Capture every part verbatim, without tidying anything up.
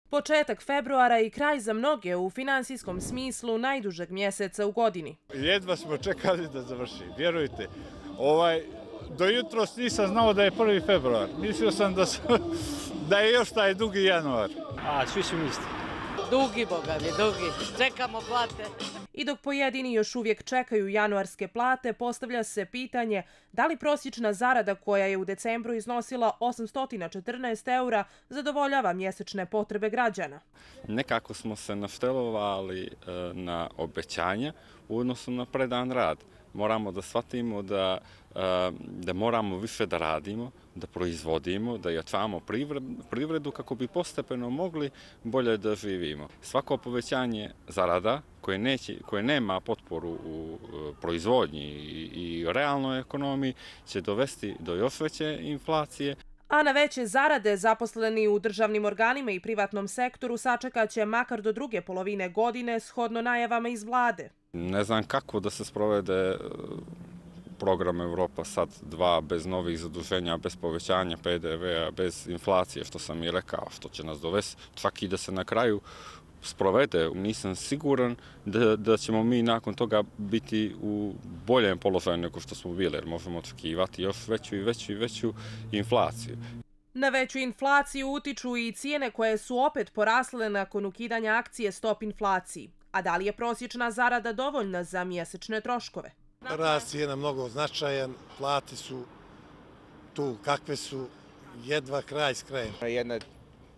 Početak februara i kraj za mnoge u finansijskom smislu najdužeg mjeseca u godini. Jedva smo čekali da završi, vjerujte. Ovaj, do jutros nisam znao da je prvi februar. Mislio sam da, su, da je još taj dugi januar. A, svi su isti. Dugi, boga mi, dugi. Čekamo plate. I dok pojedini još uvijek čekaju januarske plate, postavlja se pitanje da li prosječna zarada koja je u decembru iznosila osamsto četrnaest eura zadovoljava mjesečne potrebe građana. Nekako smo se naštelovali na obećanja u odnosu na predan rad. Moramo da shvatimo da, da moramo više da radimo, da proizvodimo, da jačamo privredu kako bi postepeno mogli bolje da živimo. Svako povećanje zarada koje, neće, koje nema potporu u proizvodnji i, i realnoj ekonomiji će dovesti do još veće inflacije. A na veće zarade zaposleni u državnim organima i privatnom sektoru sačekat će makar do druge polovine godine shodno najavama iz vlade. Ne znam kako da se sprovede program Evropa sad dva bez novih zaduženja, bez povećanja P D V-a, bez inflacije, što sam i rekao, što će nas dovesti čak i da se na kraju sprovede. Nisam siguran da, da ćemo mi nakon toga biti u boljem položaju nego što smo bili, jer možemo očekivati još veću i veću i veću inflaciju. Na veću inflaciju utiču i cijene koje su opet porasle nakon ukidanja akcije Stop inflaciji. A da li je prosječna zarada dovoljna za mjesečne troškove? Rast cijena mnogo značajan, plate su tu kakve su, jedva kraj s krajem. Jedna,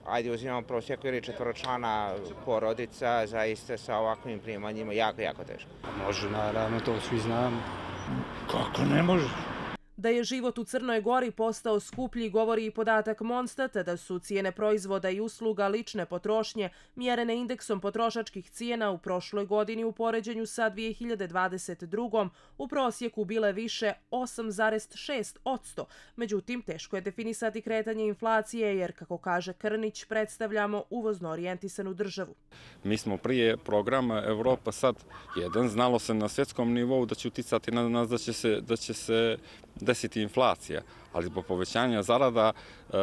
ajde uzimamo prosjeku ili četvoročlana porodica, zaista sa ovakvim primanjima jako, jako teško. Može, naravno, to svi znamo. Kako ne može? Da je život u Crnoj Gori postao skuplji govori i podatak Monstata da su cijene proizvoda i usluga lične potrošnje mjerene indeksom potrošačkih cijena u prošloj godini u poređenju sa dvije hiljade dvadeset drugom u prosjeku bile više osam zarez šest posto. Međutim, teško je definisati kretanje inflacije jer, kako kaže Krnić, predstavljamo uvozno orijentisanu državu. Mi smo prije programa Evropa sad jedan, znalo se na svjetskom nivou da će uticati na nas da će se, da će se desiti inflacija, ali zbog povećanja zarada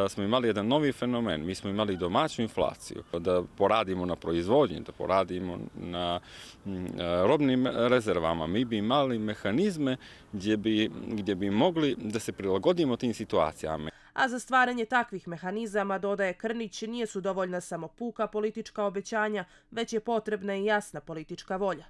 smo imali jedan novi fenomen. Mi smo imali domaću inflaciju, da poradimo na proizvodnji, da poradimo na robnim rezervama. Mi bi imali mehanizme gdje bi, gdje bi mogli da se prilagodimo tim situacijama. A za stvaranje takvih mehanizama, dodaje Krnić, nije su dovoljna samo puka politička obećanja, već je potrebna i jasna politička volja.